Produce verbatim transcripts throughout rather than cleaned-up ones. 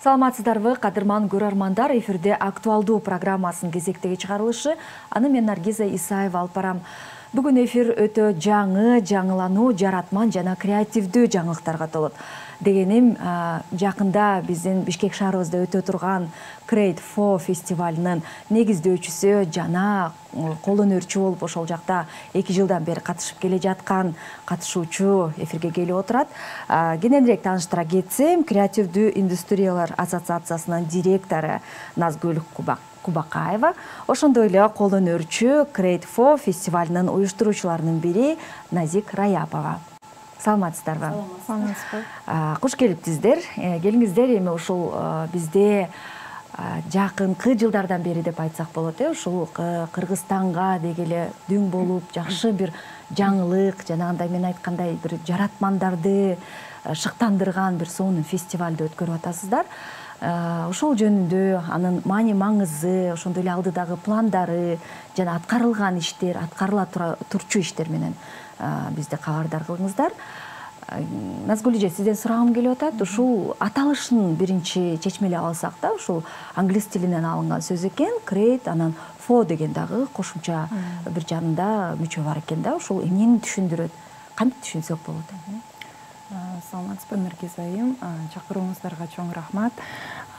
Саламатсыздарбы, кадырман көрөрмандар, эфирде актуалдуу программасынын кезектеги чыгарылышы. Аны мен Наргиза Исаева алып барам. Бүгүн эфир өтө жаңы, жаңылануу, жаратман жана креативдүү жаңылыктарга толот. Дегеним, жакында биздин Бишкек шаарыбызда өтө турган Create for фестивалынын негиздөөчүсү жана кол өнөрчү болуп ошол жакта эки жылдан бери катышып келе жаткан катышуучу эфирге келип отурат. Кененирээк тааныштыра кетсем, Креативдүү индустриялар ассоциациясынын директору Назгүл Кубакаева, ошондой эле кол өнөрчү Create for фестивалынын уюштуруучуларынын бири Назик Раяпова. Саламатсыздарбы? Саламатсызбы. Куш келиптиздер. Келиңиздер, эми ушул бизде жакынкы жылдардан бери деп айтсак болот, э, ушул Кыргызстанга дегеле дүң болуп, жакшы бир жаңылык, жанагындай мен айткандай бир жаратмандарды шыктандырган бир сонун фестивалды өткөрүп атасыздар. Ошол жөнүндө анын маани маңызы, ошондой эле алдыдагы пландары жана аткарылган иштер, аткарыла турчу иштер менен бизди кабардар кылыңыздар. Назгүл эже, сизден сурагым келип атат. Ушул аталышын биринчи чечмелеп алсак да, ушул англис тилинен алынган сөз экен, create, анан for деген дагы кошумча бир жанында мүчө бар экен да. Ушул эмнени түшүндүрөт? Кантип түшүнсөк болот? Саламатсызбы, Наргиза айым. Чакырууңуздарга чоң рахмат.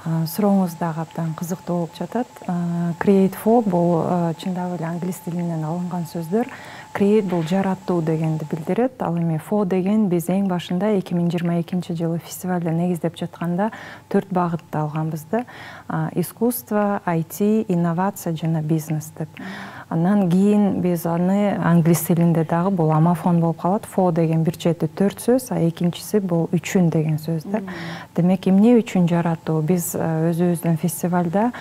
Сурооңуз дагы абдан кызыктуу болуп жатат. Create for бул чындап эле англис тилинен алынган сөздөр. Create бул жаратуу дегенди билдирет. Ал эми for деген биз эң башында эки миң жыйырма экинчи жылы фестивалда негиздеп жатканда төрт багытты алганбыз да. Искусство, ай ти, инновация жана бизнес деп. Андан кийин биз аны англис тилинде дагы бул амофон болуп калат. For деген бир чети төрт сөз, а экинчиси бул үчүн деген сөз да. Демек, эмне үчүн жаратуу? Биз өзүбүздүн фестивалда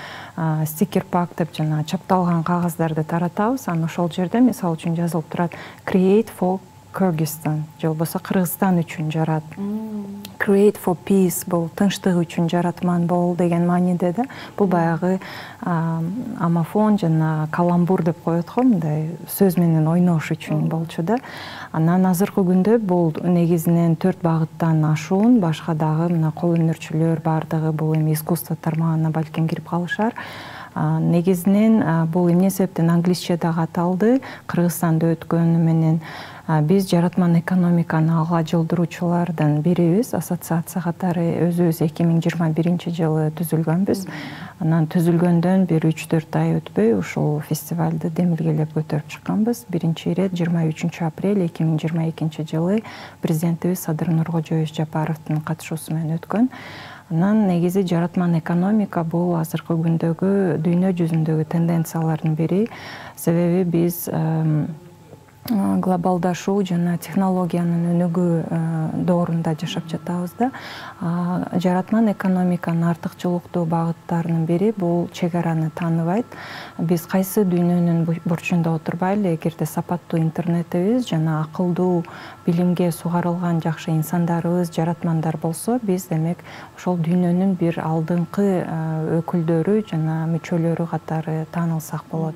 стикер пак деп жана чапталган кагаздарды таратабыз. Анан ошол жерде мисалы үчүн жазылып турат Create for Kyrgyzstan, же болбосо Кыргызстан үчүн жарат. Create for peace бул тынчтык үчүн жаратман бол деген мааниде да. Бул баягы амофон жана каламбур деп коет го, мындай сөз менен ойнош үчүн болчу да. Анан азыркы күндө бул негизинен төрт багыттан ашуун, башка дагы мына кол өнөрчүлөр бардыгы бул эми искусство тармагына балким кирип калышар. Негизинен бул эмне себептен англисче дагы аталды, Кыргызстанда өткөнү менен биз жаратман экономиканы алга жылдыруучулардан бирибиз. Ассоциация катары өзүбүз эки миң жыйырма биринчи жылы түзүлгөнбүз. Анан түзүлгөндөн бир үч төрт ай өтпөй ушул фестивалды демилгелеп көтөрүп чыкканбыз. Биринчи ирет жыйырма үчүнчү апрель эки миң жыйырма экинчи жылы президентибиз Садыр Нуркожоевич Жапаровдун катышуусу менен өткөн. Анан негизи жаратман экономика бул азыркы күндөгү дүйнө жүзүндөгү тенденциялардын бири. Себеби биз глобалдашуу жана технологиянын өнүгүү доорунда жашап жатабыз да. Жаратман экономиканын артыкчылыктуу багыттарынын бири бул чек араны тааныбайт. Биз кайсы дүйнөнүн бурчунда отурбайлы, эгерде сапаттуу интернетибиз жана акылдуу билимге сугарылган жакшы инсандарыбыз, жаратмандар болсо, биз демек ошол дүйнөнүн бир алдыңкы өкүлдөрү жана мүчөлөрү катары таанылсак болот.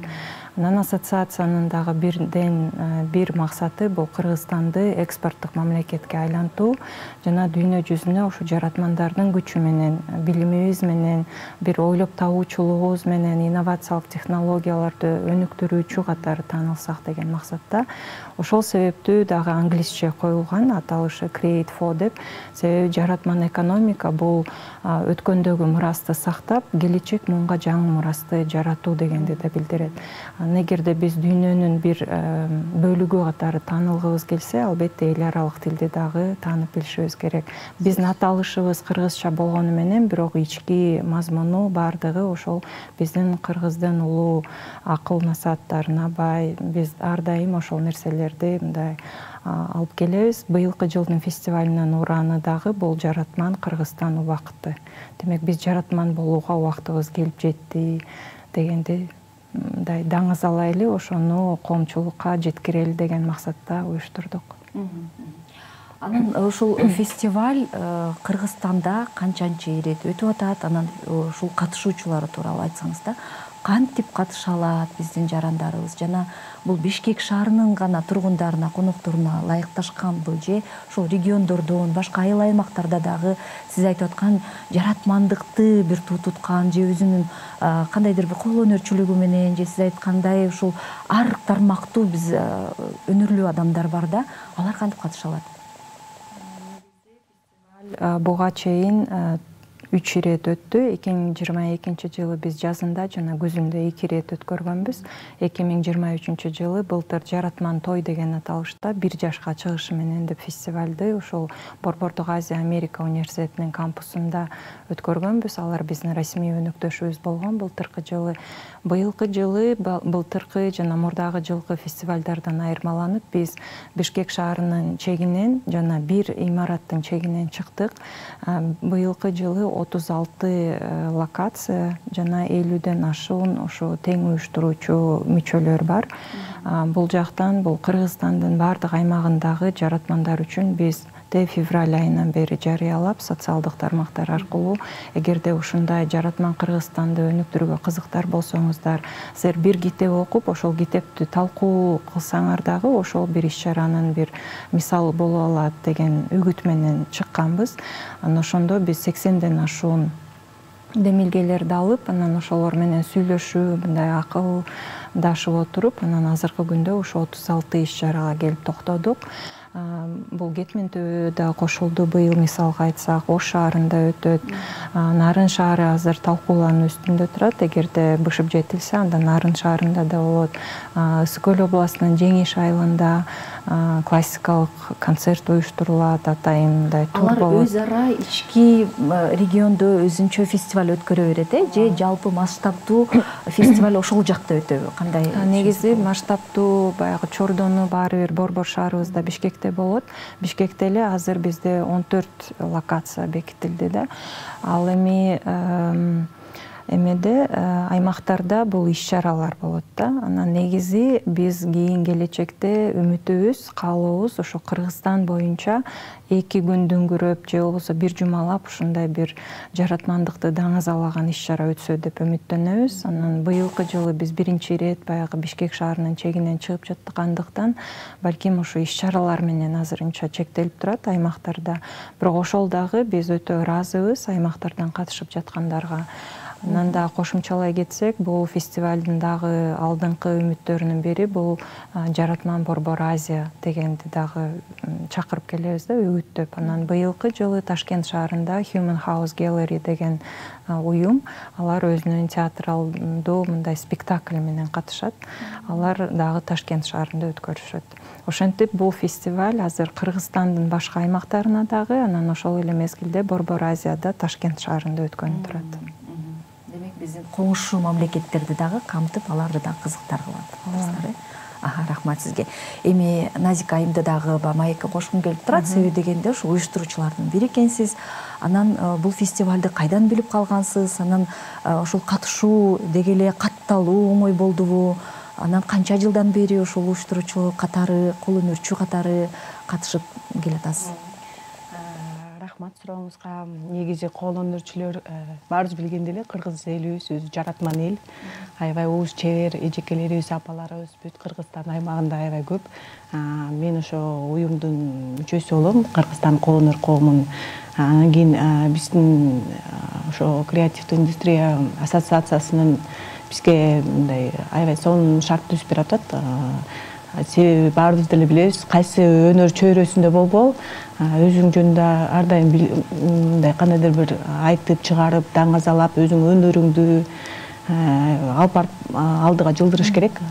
Анан ассоциациянын дагы бирден бир максаты бул Кыргызстанды экспорттук мамлекетке айлантуу жана дүйнө жүзүнө ушу жаратмандардын күчү менен, билимибиз менен, бир ойлоп табуучулугубуз менен инновациялык технологияларды өнүктүрүүчү катары таанылсак деген максатта. Ошол себептүү дагы англисче коюлган аталышы Create for деп. Себеби жаратман экономика бул өткөндөгү мурасты сактап, келечек муңга жаңы мурасты жаратуу дегенди да билдирет. Эгерде биз дүйнөнүн бир бөлүгү катары таанылгыбыз келсе, албетте эл аралык тилди дагы таанып билишибиз керек. Биздин аталышыбыз кыргызча болгону менен, бирок ички мазмуну бардыгы ошол биздин кыргыздын улуу акыл насааттарына бай. Биз ар дайым ошол нерселерди мындай алып келебиз. Быйылкы жылдын фестивалынын ураны дагы бул жаратман Кыргызстан убакыты. Демек, биз жаратман болууга убактыбыз келип жетти дегенди мындай даңыз алайлы, ошону коомчулукка жеткирели деген максатта уюштурдук. Анан ушул фестиваль Кыргызстанда канчанчы ирет өтүп атат? Анан ушул катышуучулары тууралуу айтсаңыз да. кантип катыша алат биздин жарандарыбыз жана бул Бишкек шаарынын гана тургундарына, конокторуна ылайыкташканбы же ошол региондордон башка айыл аймактарда дагы сиз айтып аткан жаратмандыкты бир туу туткан же өзүнүн кандайдыр бир кол өнөрчүлүгү менен же сиз айткандай ушул ар тармактуу биз өнөрлүү адамдар бар да, алар кантип катыша алат? Буга чейин үч ирет өттү. эки миң жыйырма экинчи жылы биз жазында жана күзүндө эки ирет өткөргөнбүз. эки миң жыйырма үчүнчү жылы былтыр Жаратман той деген аталышта бир жашка чыгышы менен деп фестивалды ушул Борбордук Азия Америка университетинин кампусунда өткөргөнбүз. Алар биздин расмий өнөктөшүбүз болгон. Былтыркы жылы быйылкы жылы былтыркы жана мурдагы жылкы фестивалдардан айырмаланып биз Бишкек шаарынын чегинен жана бир имараттын чегинен чыктык. Быйылкы жылы отуз алты локация жана элүүдөн ашуун ошо тең уюштуруучу мүчөлөр бар. Бул жактан бул Кыргызстандын бардык аймагындагы жаратмандар үчүн биз февраль айынан бери жарыялап социалдык тармактар аркылуу эгерде ушундай жаратман Кыргызстанды өнүктүрүүгө кызыктар болсоңуздар, силер бир китеп окуп, ошол китепти талкуу кылсаңар дагы ошол бир иш-чаранын бир мисалы боло алат деген үгүт менен чыкканбыз. Анан ошондо биз сексенден ашуун демилгелерди алып, анан ошолор менен сүйлөшүп, мындай акылдашып отуруп, анан азыркы күндө ошо отуз алты иш-чарага келип токтодук. Бул Кетмен төбө да кошулду быйыл, мисалга айтсак, Ош шаарында өтөт. Нарын шаары азыр талкуулануу үстүндө турат. Эгерде бышып жетилсе, анда Нарын шаарында да болот. Ысык Көл областынын Жеңиш айылында классикалык концерт уюштурулат, атайын мындай тур болот. Алар өз ара ички региондо өзүнчө фестиваль өткөрө берет, э? Же жалпы масштабтуу фестиваль ошол жакта өтөбү? Кандай? Негизи масштабтуу баягы Чордону баары бир борбор шаарыбызда Бишкекте болот. Бишкекте эле азыр бизде он төрт локация бекитилди да. Ал эми эмеде аймактарда бул иш-чаралар болот да. Анан негизи биз кийин келечекте үмүтүбүз, каалообуз ошо Кыргызстан боюнча эки күн дүңгүрөп же болбосо бир жумалап ушундай бир жаратмандыкты даңазалаган иш-чара өтсө деп үмүттөнөбүз. Анан быйылкы жылы биз биринчи ирет баягы Бишкек шаарынын чегинен чыгып жаткандыктан балким ошо иш-чаралар менен азырынча чектелип турат аймактарда. Бирок ошол дагы биз өтө ыраазыбыз аймактардан катышып жаткандарга. Анан да кошумчалай кетсек, бул фестивалдын дагы алдыңкы үмүттөрүнүн бири бул Жаратман Борбор Азия дегенди дагы чакырып келебиз да, үгүттөп. Анан быйылкы жылы Ташкент шаарында Human House Gallery деген уюм, алар өзүнүн театралдуу мындай спектакль менен катышат. Алар дагы Ташкент шаарында өткөрүшөт. Ошентип бул фестиваль азыр Кыргызстандын башка аймактарына дагы, анан ошол эле мезгилде Борбор Азияда Ташкент шаарында өткөнүп турат. Демек биздин коңшу мамлекеттерди дагы камтып, аларды дагы кызыктар кылат. Аха, рахмат сизге. Эми Назика айымды дагы маекке кошкум келип турат, себеби дегенде ушу уюштуруучулардын бири экенсиз. Анан бул фестивалды кайдан билип калгансыз? Анан ошол катышуу деги эле катталуу оңой болдубу? Анан канча жылдан бери ошол уюштуруучу катары, кол өнөрчү катары катышып келатасыз? Рахмат сурооңузга. Негизи кол өнөрчүлөр баарыбыз билгендей эле Кыргыз элибиз өзү жаратман эл. Аябай уус чебер эжекелерибиз, апаларыбыз бүт Кыргызстан аймагында аябай көп. Мен ошо уюмдун мүчөсү болом, Кыргызстан кол өнөр коомунун. Анан кийин биздин ошо креативдүү индустрия ассоциациясынын бизге мындай аябай сонун шарт түзүп берип атат. Себеби баарыбыз деле билебиз, кайсы өнөр чөйрөсүндө болбол, өзүң жөнүндө ар дайым мындай кандайдыр бир айтып чыгарып, даңазалап, өзүң өнөрүңдү алып барып алдыга жылдырыш керек.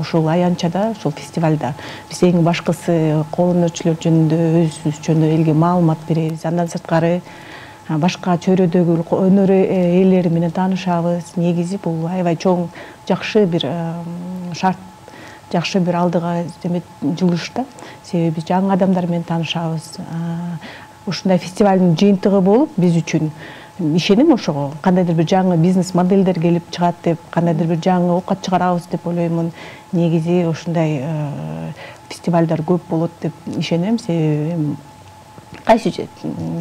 Ошол аянтчада, ошол фестивалда биз эң башкысы кол өнөрчүлөр жөнүндө, өзүбүз жөнүндө элге маалымат беребиз. Андан сырткары башка чөйрөдөгү өнөр ээлери менен таанышабыз. Негизи бул аябай чоң, жакшы бир шарт, жакшы бир алдыга жылыш да. Себеби биз жаңы адамдар менен таанышабыз. Ушундай фестивалдын жыйынтыгы болуп, биз үчүн ишенем ошого. Кандайдыр бир жаңы бизнес моделдер келип чыгат деп, кандайдыр бир жаңы оокат чыгарабыз деп ойлоймун. Негизи ушундай фестивалдар көп болот деп ишенем. Себеби кайсы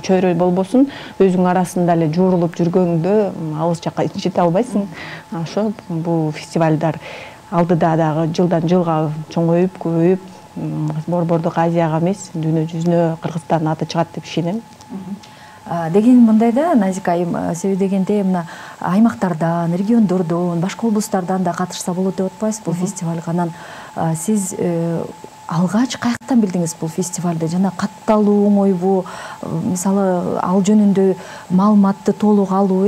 чөйрө болбосун өзүң арасында эле жуурулуп жүргөндө алыс жакка жете албайсың. Ошо бул фестивалдар алдыда дагы жылдан жылга чоңоюп, көбөйүп, Борбордук Азияга эмес, дүйнө жүзүнө Кыргызстандын аты чыгат деп ишенем. Деген мындай да, Назика айым, себеби дегенде мына аймактардан, региондордон, башка облустардан да катышса болот деп атпайсыз бул фестивалга. Анан сиз алгач каяктан билдиңиз бул фестивалды? Жана катталуу оңойбу? Мисалы, ал жөнүндө маалыматты толук алуу,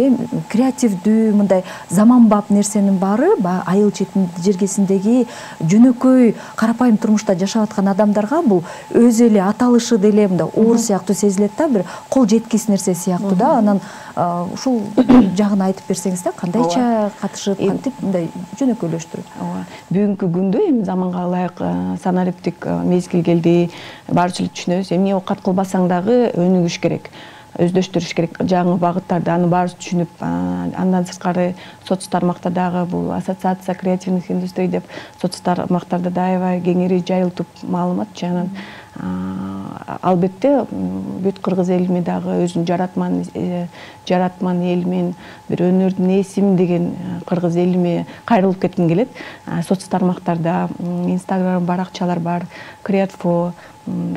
креативдүү, мындай заманбап нерсенин баары айыл четинде жергесиндеги жөнөкөй карапайым турмушта жашап аткан адамдарга бул өз эле аталышы деле мындай оор сыяктуу сезилет да, бир кол жеткис нерсе сыяктуу да. Анан ушул жагын айтып берсеңиз да, кандайча катышып, кантип мындай жөнөкөйлөштүрүп? Ооба. Бүгүнкү күндө эми заманга ылайык санариптик мезгил келди. Баарыбыз эле түшүнөбүз. Эмне оокат кылбасаң дагы өнүгүш керек, өздөштүрүш керек. Жаңы багыттарды аны баарыбыз түшүнүп, андан сырткары соц тармакта дагы бул ассоциация креативных индустрий деп соц тармактарда да аябай кеңири жайылтып маалымат жанан албетте бүт кыргыз элиме дагы өзүнүн жаратман жаратман элимен бир өнөрдүн ээсимин деген кыргыз элиме кайрылып кетким келет. Соц тармактарда Instagram баракчалар бар, Creatfo,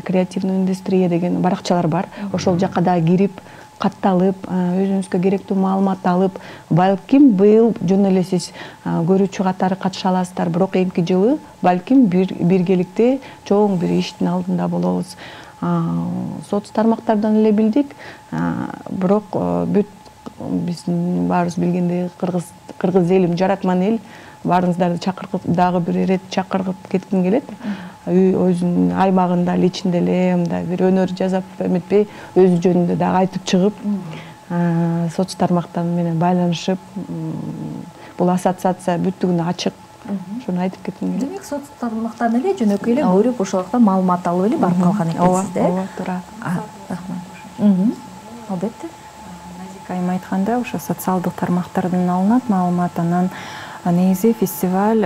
креативный индустрия деген баракчалар бар. Ошол жакка да кирип, катталып, өзүңүзгө керектүү маалымат алып, балким быйыл жөн эле сиз көрүүчү катары катыша аласыздар, бирок эмки жылы балким биргеликте чоң бир иштин алдында болобуз. Соц тармактардан эле билдик, бирок бүт биздин баарыбыз билгендей кыргыз кыргыз элим жаратман эл, баарыңыздарды чакырып дагы бир ирет чакырып кетким келет. Өзүнүн аймагында ичинде эле мындай бир өнөр жасап эметпей, өзү жөнүндө дагы айтып чыгып, соц тармактар менен байланышып, бул ассоциация бүттүгүнө ачык. Ошону айтып кетким келет. Демек, соц тармактан эле жөнөкөй эле көрүп, ошол жакта маалымат алып эле барып калган экенсиз да? Ооба, туура. Рахмат. Албетте. Назика айым айткандай, ошо социалдык тармактардан алынат маалымат. Анан негизи фестиваль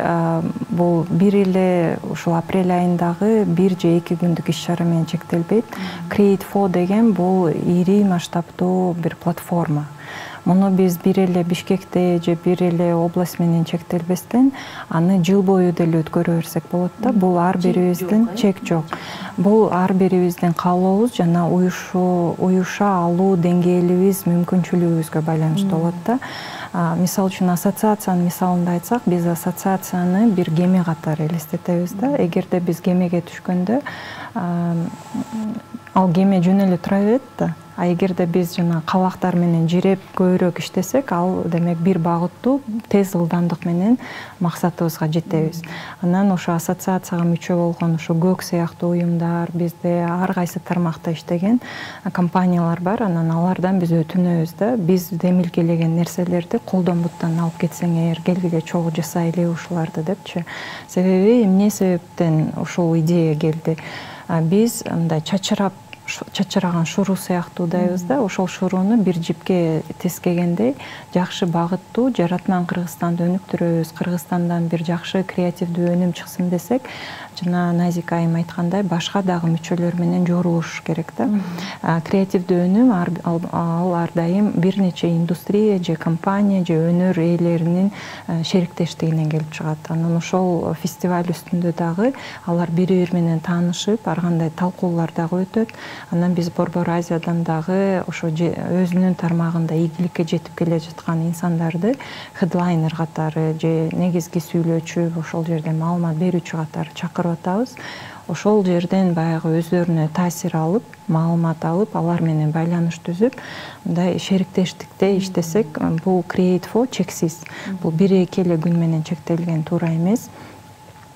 бул бир эле ушул апрель айындагы бир же эки күндүк иш чара менен чектелбейт. Creatfo деген бул ири масштабтуу бир платформа. Муну биз бир эле Бишкекте же бир эле область менен чектелбестен, аны жыл бою деле өткөрө берсек болот да. Бул ар бирибиздин чек жок. Бул ар бирибиздин каалообуз жана уюша алуу деңгээлибиз, мүмкүнчүлүгүбүзгө байланыштуу болот да. Мисал үчүн ассоциациянын мисалында айтсак, биз ассоциацияны бир кеме катары элестетебиз да. Эгерде биз кемеге түшкөндө, ал кеме жөн эле тура берет да. А эгерде биз жана кабактар менен жиреп көбүрөөк иштесек, ал демек бир багыттуу тез ылдамдык менен максатыбызга жетебиз. Анан ошо ассоциацияга мүчө болгон ошо көк сыяктуу уюмдар, бизде ар кайсы тармакта иштеген компаниялар бар. Анан алардан биз өтүнөбүз да. Биз демилгелеген нерселерди колдон-буттан алып кетсең эгер, келгиле чогуу жасайлы ушуларды депчи. Себеби эмне себептен ушул идея келди? Биз мындай чачырап чачыраган шуруу сыяктуудайбыз да. Ошол шурууну бир жипке тескегендей жакшы багыттуу жаратман Кыргызстанды өнүктүрөбүз, Кыргызстандан бир жакшы креативдүү өнүм чыксын десек, жана Назика айым айткандай, башка дагы мүчөлөр менен жорулуш керек да. Креативдүү өнүм ал ар дайым бир нече индустрия же компания же өнөр ээлеринин шериктештигинен келип чыгат. Анан ошол фестиваль үстүндө дагы алар бири-бири менен таанышып, ар кандай талкуулар дагы өтөт. Анан биз Борбор Азиядан дагы ошо өзүнүн тармагында ийгиликке жетип келе жаткан инсандарды хедлайнер катары же негизги сүйлөөчү, ошол жерде маалымат берүүчү катары чакырып атабыз. Ошол жерден баягы өздөрүнө таасир алып, маалымат алып, алар менен байланыш түзүп, мындай шериктештикте иштесек, бул Creatfo чексиз. Бул бир-эки эле күн менен чектелген, туура эмес.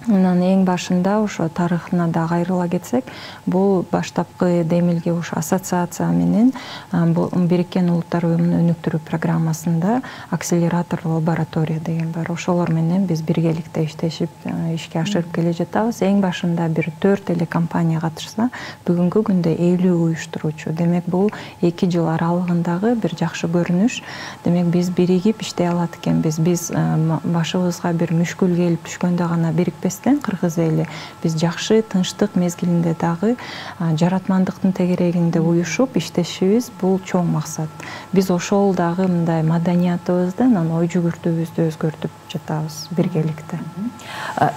Анан эң башында ошо тарыхына да кайрыла кетсек, бул баштапкы демилге ошо ассоциация менен Бириккен Улуттар Уюмунун өнүктүрүү программасында акселератор лаборатория деген бар. Ошолор менен биз биргеликте иштешип, ишке ашырып келе жатабыз. Эң башында бир төрт эле компания катышса, бүгүнкү күндө элүү уюштуруучу. Демек, бул эки жыл аралыгындагы бир жакшы көрүнүш. Демек, биз биригип иштей алат экенбиз. Биз башыбызга бир мүшкүл келип түшкөндө гана бирикпес эместен кыргыз эли биз жакшы тынчтык мезгилинде дагы жаратмандыктын тегерегинде уюшуп иштешибиз бул чоң максат. Биз ошол дагы мындай маданиятыбызды, анан ой жүгүртүүбүздү өзгөртүп жатабыз биргеликте.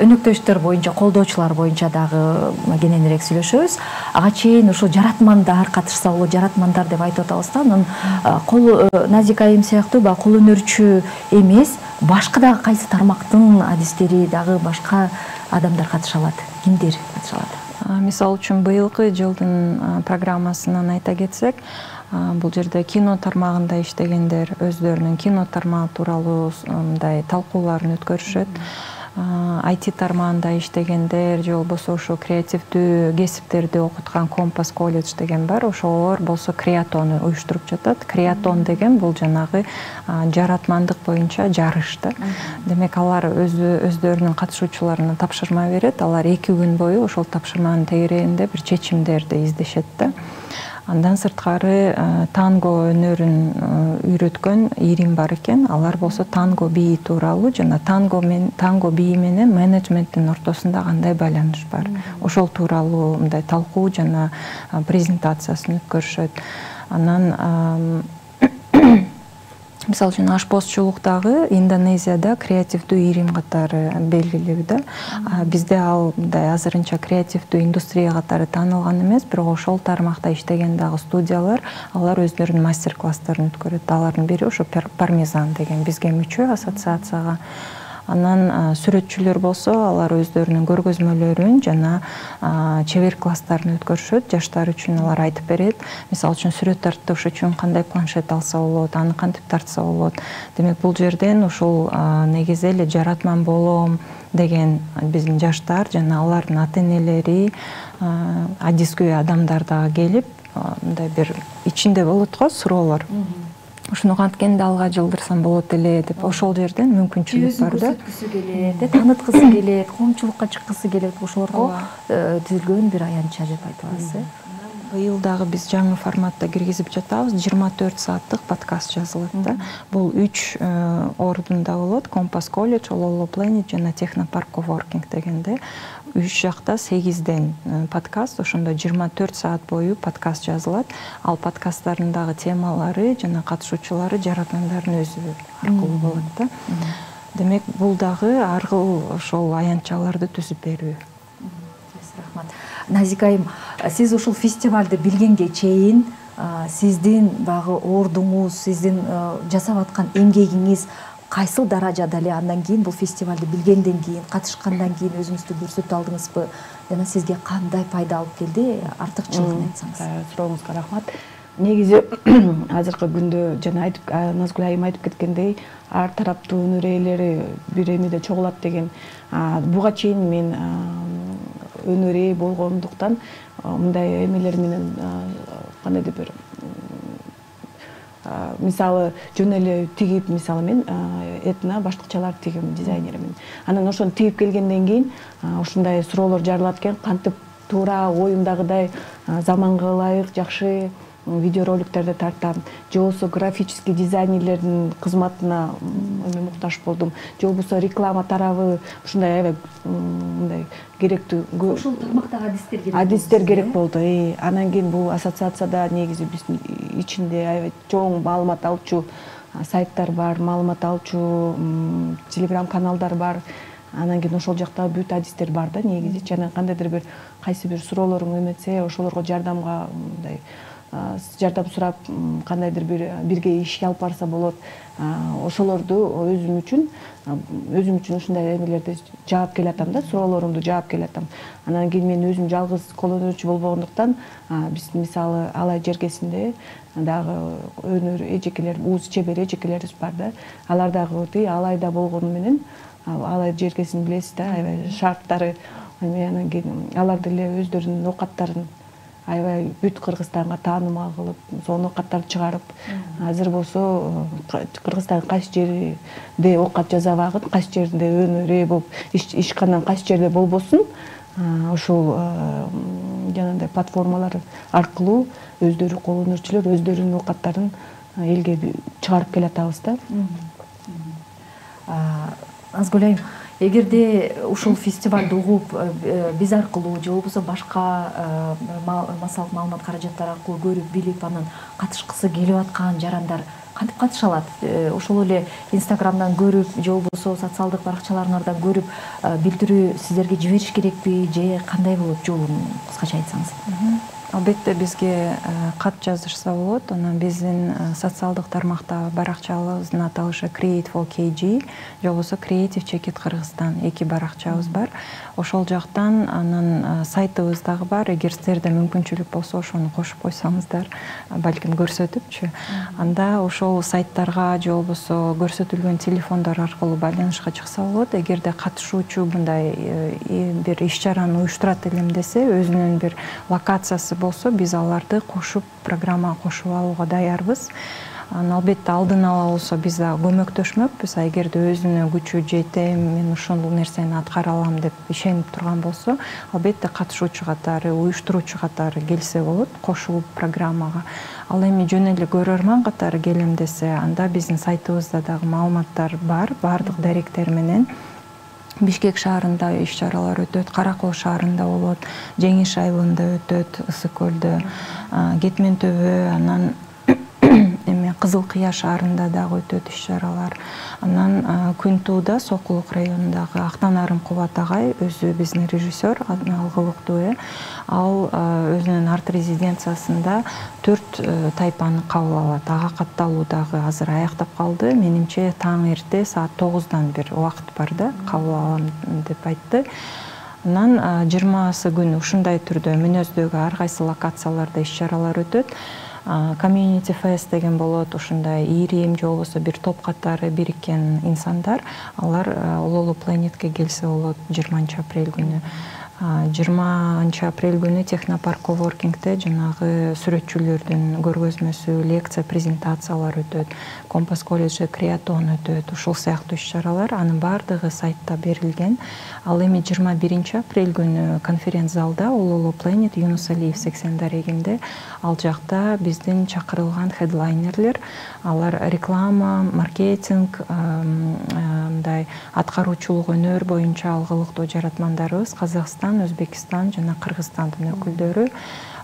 Өнөктөштөр боюнча, колдоочулар боюнча дагы кененирээк сүйлөшөбүз. Ага чейин ошо жаратмандар катышса болот, жаратмандар деп айтып атабыз да. Анан кол Назика айым сыяктуу баягы кол өнөрчү эмес, башка дагы кайсы тармактын адистери дагы башка адамдар катыша алат? Кимдер катыша алат? Мисалы үчүн быйылкы жылдын программасынан айта кетсек, бул жерде кино тармагында иштегендер өздөрүнүн кино тармагы тууралуу мындай талкууларын өткөрүшөт. ай ти тармагында иштегендер же болбосо ошо креативдүү кесиптерди окуткан Компас колледж деген бар. Ошолор болсо креатону уюштуруп жатат. Креатон деген бул жанагы жаратмандык боюнча жарыш да. Демек алар өздөрүнүн катышуучуларына тапшырма берет. Алар эки күн бою ошол тапшырманын тегерегинде бир чечимдерди издешет да. Андан сырткары танго өнөрүн үйрөткөн Ирим бар экен. Алар болсо танго бии тууралуу жана танго мен танго бии менен менеджменттин ортосунда кандай байланыш бар. Ошол тууралуу мындай талкуу жана презентациясын өткөрүшөт. Анан мисалы үчүн ашпозчулуктагы Индонезияда креативдүү Ирим катары белгилүү да. Бизде ал мындай азырынча креативдүү индустрия катары таанылган эмес, бирок ошол тармакта иштеген дагы студиялар, алар өздөрүнүн мастер-класстарын өткөрөт. Алардын бири ошо Пармезан деген бизге мүчө ассоциацияга. Анан сүрөтчүлөр болсо, алар өздөрүнүн көргөзмөлөрүн жана чебер класстарын өткөрүшөт. Жаштар үчүн алар айтып берет. Мисалы үчүн сүрөт тарттыш үчүн кандай планшет алса болот, аны кантип тартса болот. Демек бул жерден ушул негизи эле жаратман болом деген биздин жаштар жана алардын ата-энелери, адискөй адамдар дагы келип, мындай бир ичинде болот го суроолор. Ушуну канткенде алга жылдырсам болот эле деп ошол жерден мүмкүнчүлүк бар да. Көрсөткүсү келет, тааныткысы келет, коомчулукка чыккысы келет, ошолорго түзүлгөн бир аянтча деп айта аласыз. Быйыл дагы биз жаңы форматта киргизип жатабыз. жыйырма төрт сааттык подкаст жазылат да. Бул үч ордунда болот. Компас колледж, Ололо Planet жана Технопарк Коворкинг дегенде үч жакта сегизден подкаст, ошондо жыйырма төрт саат бою подкаст жазылат. Ал подкасттардын дагы темалары жана катышуучулары жаратмандардын өзү аркылуу болот да. Демек бул дагы ар кыл ошол аянтчаларды түзүп берүү. Рахмат. Назика айым, сиз ушул фестивалды билгенге чейин сиздин багы ордуңуз, сиздин жасап аткан эмгегиңиз кайсыл даражада эле? Андан кийин бул фестивалды билгенден кийин, катышкандан кийин өзүңүздү көрсөтө алдыңызбы? Жана сизге кандай пайда алып келди? Артыкчылыгын айтсаңыз. Сурооңузга рахмат. Негизи азыркы күндө жана айтып Назгүл айым айтып кеткендей, ар тараптуу өнөр ээлери бир эмеде чогулат деген. Буга чейин мен өнөр ээ болгондуктан мындай эмелер менен кандайдыр бир мисалы жөн эле тигип, мисалы мен этно баштыкчалар тигим дизайнеримин. Анан ошону тигип келгенден кийин ушундай суроолор жарылат экен, кантип туура оюмдагыдай заманга ылайык жакшы видеороликтерди тартам, же болбосо графический дизайнерлердин кызматына эме муктаж болдум, же болбосо реклама тарабы ушундай аябай мындай керектүү ошол тармактагы адистер керек. Адистер керек болду. Анан кийин бул ассоциацияда негизи биздин ичинде аябай чоң маалымат алчу сайттар бар, маалымат алчу телеграм каналдар бар. Анан кийин ошол жакта бүт адистер бар да негизи. Жана кандайдыр бир кайсы бир суроолоруң эметсе, ошолорго жардамга мындай жардам сурап, кандайдыр бир бирге ишке алып барса болот. Ошолорду өзүм үчүн өзүм үчүн ушундай эмелерди жаап келатам да, суроолорумду жаап келатам. Анан кийин мен өзүм жалгыз кол өнөрчү болбогондуктан, биз мисалы Алай жергесинде дагы өнөр эжекелер, уз чебер эжекелерибиз бар да. Алар дагы Алайда болгону менен, Алай жергесин билесиз да, аябай шарттары, анан кийин алар деле өздөрүнүн оокаттарын аябай бүт Кыргызстанга таанымал кылып, сонун оокаттарды чыгарып, азыр болсо Кыргызстандын кайсы жеринде оокат жасабагын, кайсы жеринде өнөр ээ болуп ишкандан кайсы жерде болбосун, ушул жанагындай платформалар аркылуу өздөрү кол өнөрчүлөр өздөрүнүн оокаттарын элге чыгарып келатабыз да. Назгүл айым, эгерде ушул фестивалды угуп биз аркылуу же болбосо башка массалык маалымат каражаттары аркылуу көрүп билип анан катышкысы келип аткан жарандар кантип катыша алат? Ошол эле инстаграмдан көрүп же болбосо социалдык баракчаларыңардан көрүп билдирүү сиздерге жибериш керекпи же кандай болот жолун кыскача айтсаңыз? Албетте бизге кат жазышса болот. Анан биздин социалдык тармакта баракчабыздын аталышы Create for кей джи же болбосо Creative Check It Кыргызстан эки баракчабыз бар. Ошол жактан анан сайтыбыз дагы бар. Эгер сиздерде мүмкүнчүлүк болсо ошону кошуп койсоңуздар, балким көрсөтүпчү. Анда ошол сайттарга же болбосо көрсөтүлгөн телефондор аркылуу байланышка чыкса болот. Эгерде катышуучу мындай бир иш-чараны уюштурат элем десе, өзүнүн бир локациясы болсо, биз аларды кошуп, программага кошуп алууга даярбыз. Албетте алдын ала болсо биз да көмөктөшмөкпүз. Эгерде өзүнүн күчү жетем, мен ушул нерсени аткара алам деп ишенип турган болсо, албетте катышуучу катары, уюштуруучу катары келсе болот, кошулуп программага. Ал эми жөн эле көрөрман катары келем десе, анда биздин сайтыбызда дагы маалыматтар бар, баардык даректер менен. Бишкек шаарында иш-чаралар өтөт, Каракол шаарында болот, Жеңиш айылында өтөт, Ысык көлдө, Кетмен төбө, анан эме Кызыл Кыя шаарында дагы өтөт иш-чаралар. Анан Күнтууда, Сокулук районундагы Актанарым Кубат агай, өзү биздин режиссер, алгылыктуу, ал өзүнүн арт резиденциясында төрт тайпаны кабыл алат. Ага катталуу дагы азыр аяктап калды. Менимче таң эрте саат тогуздан бир убакыт бар да, кабыл алам деп айтты. Анан жыйырмасы күнү ушундай түрдө мүнөздөгү ар кайсы локацияларда иш-чаралар өтөт. Community Fest деген болот, ушундай ирим же болбосо бир топ катары бириккен инсандар, алар Улуулуу Планетке келсе болот жыйырманчы апрель күнү. жыйырманчы апрель күнү Технопарк Коворкингте жанагы сүрөтчүлөрдүн көргөзмөсү, лекция, презентациялар өтөт, Компас колледжи креатон өтөт, ушул сыяктуу иш-чаралар, анын баардыгы сайтта берилген. Ал эми жыйырма биринчи апрель күнү конференц залда Улуулуу Planet Юнус Алиев сексен дарегинде, ал жакта биздин чакырылган хедлайнерлер, алар реклама, маркетинг, мындай аткаруучулук өнөр боюнча алгылыктуу жаратмандарыбыз Казакстан, Өзбекстан жана Кыргызстандын өкүлдөрү,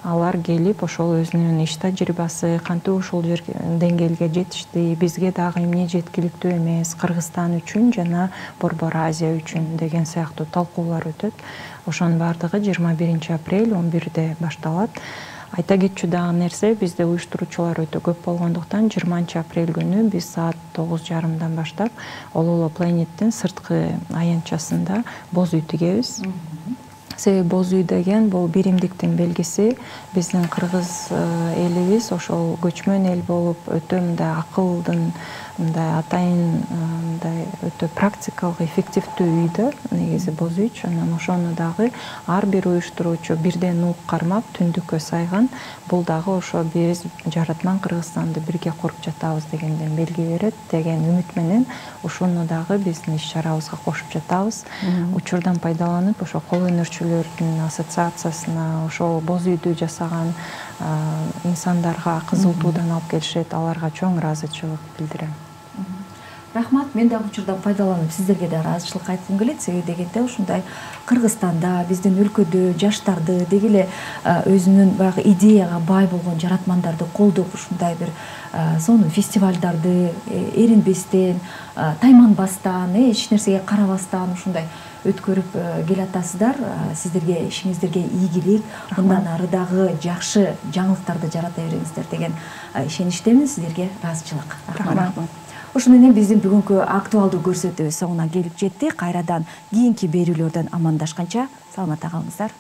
алар келип ошол өзүнүн иш тажрыйбасы, кантип ушул деңгээлге жетишти, бизге дагы эмне жеткиликтүү эмес, Кыргызстан үчүн жана Борбор Азия үчүн деген сыяктуу талкуулар өтөт. Ошонун баардыгы жыйырма биринчи апрель он бирде башталат. Айта кетчү дагы нерсе, бизде уюштуруучулар өтө көп болгондуктан жыйырманчы апрель күнү биз саат тогуз жарымдан баштап Улуулуу Планеттин сырткы аянтчасында боз үй тигебиз. Себеби боз үй деген бул биримдиктин белгиси. Биздин кыргыз элибиз ошол көчмөн эл болуп өтө мындай акылдын, мындай атайын мындай өтө практикалык, эффективдүү үйдө негизи боз үй. Анан ошону дагы ар бир уюштуруучу бирден ук кармап түндүккө сайган. Бул дагы ошо биз жаратман Кыргызстанды бирге куруп жатабыз дегенден белги берет деген үмүт менен ушуну дагы биздин иш-чарабызга кошуп жатабыз. Учурдан пайдаланып ошо кол өнөрчүлөрдүн ассоциациясына ошол боз үйдү жасаган инсандарга кызыл туудан алып келишет, аларга чоң ыраазычылык билдирем. Рахмат, мен дагы учурдан пайдаланып сиздерге да ыраазычылык айткым келет. Себеби дегенде ушундай Кыргызстанда, биздин өлкөдө жаштарды, деги эле өзүнүн баягы идеяга бай болгон жаратмандарды колдоп, ушундай бир сонун фестивалдарды эринбестен, тайманбастан, эч нерсеге карабастан ушундай өткөрүп келатасыздар. Сиздерге ишиңиздерге ийгилик, мындан ары дагы жакшы жаңылыктарды жарата бериңиздер деген ишеничтемин. Сиздерге ыраазычылык. Рахмат. Ошону менен биздин бүгүнкү актуалдуу көрсөтүү соңуна келип жетти. Кайрадан кийинки берүүлөрдөн амандашканча саламатта калыңыздар.